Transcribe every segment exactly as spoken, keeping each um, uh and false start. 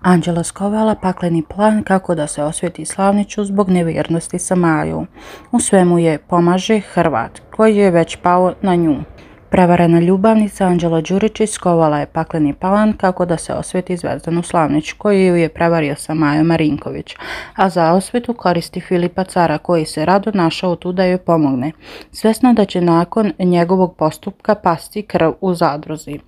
Anđela skovala pakleni plan kako da se osveti Slavniću zbog nevjernosti sa Majom. U svemu je pomaže Hrvat, koji je već pao na nju. Prevarena ljubavnica Anđela Đuričić skovala je pakleni plan kako da se osveti Zvezdanu Slavnić, koji ju je prevario sa Majom Marinković, a za osvetu koristi Filipa Cara, koji se rado našao tu da joj pomogne, svesna da će nakon njegovog postupka pasti krv u zadruzi.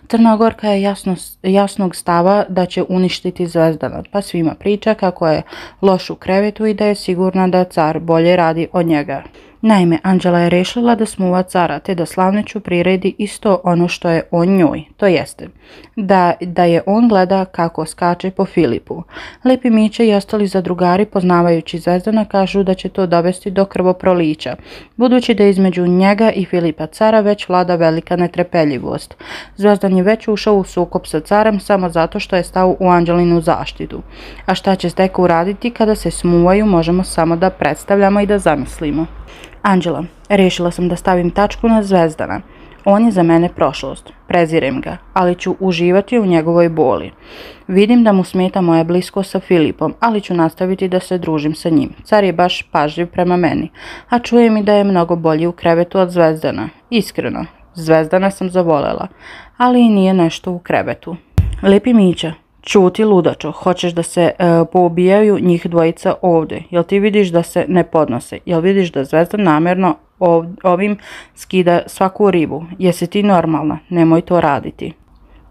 Crnogorka je jasno, jasnog stava da će uništiti Zvezdana, pa svima priča kako je loš u krevetu i da je sigurna da Car bolje radi od njega. Naime, Anđela je rešila da smuva Cara, te da Slavniću priredi isto ono što je on njoj, to jeste, da, da je on gleda kako skače po Filipu. Lepi Mića i ostali zadrugari, poznavajući Zvezdana, kažu da će to dovesti do krvoprolića, budući da između njega i Filipa Cara već vlada velika netrpeljivost. Zvezdan je već ušao u sukob sa Carem samo zato što je stao u Anđelinu zaštitu. A šta će Zdeka uraditi kada se smuvaju, možemo samo da predstavljamo i da zamislimo. Anđela, rešila sam da stavim tačku na Zvezdana. On je za mene prošlost, prezirem ga, ali ću uživati u njegovoj boli. Vidim da mu smeta moja bliskost sa Filipom, ali ću nastaviti da se družim sa njim. Car je baš pažljiv prema meni, a čujem i da je mnogo bolji u krevetu od Zvezdana. Iskreno, Zvezdana sam zavolela, ali i nije nešto u krevetu. Lepi Mića, čuti ludačo, hoćeš da se e, poubijaju njih dvojica ovdje, jel ti vidiš da se ne podnose, jel vidiš da Zvezdan namjerno ov, ovim skida svaku ribu, jesi ti normalna, nemoj to raditi.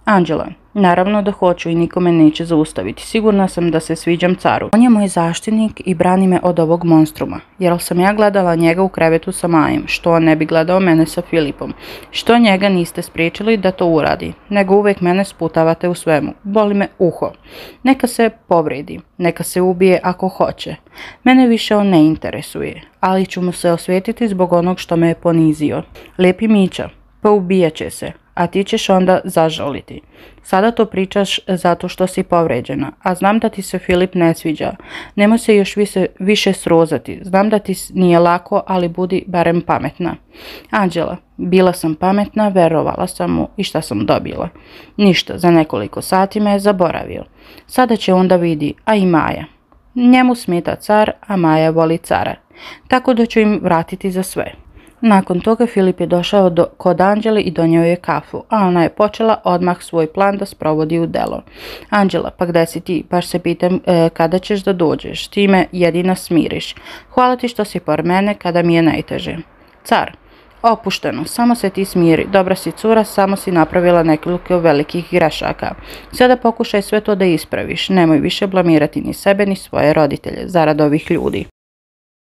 Anđela, naravno da hoću i nikome neće zaustaviti, sigurna sam da se sviđam Caru. On je moj zaštitnik i brani me od ovog monstruma, jer sam ja gledala njega u krevetu sa Majem, što on ne bi gledao mene sa Filipom, što njega niste spriječili da to uradi, nego uvijek mene sputavate u svemu, boli me uho. Neka se povredi, neka se ubije ako hoće, mene više on ne interesuje, ali ću mu se osvetiti zbog onog što me je ponizio. Lepi Mića, poubijat će se, a ti ćeš onda zažaliti. Sada to pričaš zato što si povređena, a znam da ti se Filip ne sviđa. Nemoj se još više, više srozati. Znam da ti nije lako, ali budi barem pametna. Anđela, bila sam pametna, verovala sam mu i šta sam dobila? Ništa, za nekoliko sati me je zaboravio. Sada će onda vidi, a i Maja. Njemu smeta Car, a Maja voli Cara. Tako da ću im vratiti za sve. Nakon toga Filip je došao do, kod Anđele i donio je kafu, a ona je počela odmah svoj plan da sprovodi u delo. Anđela, pa gde si ti? Baš se pitam e, kada ćeš da dođeš, ti me jedina smiriš. Hvala ti što si por mene kada mi je najteže. Car, opušteno, samo se ti smiri, dobra si cura, samo si napravila nekoliko velikih grešaka. Sada pokušaj sve to da ispraviš, nemoj više blamirati ni sebe ni svoje roditelje, zarad ovih ljudi.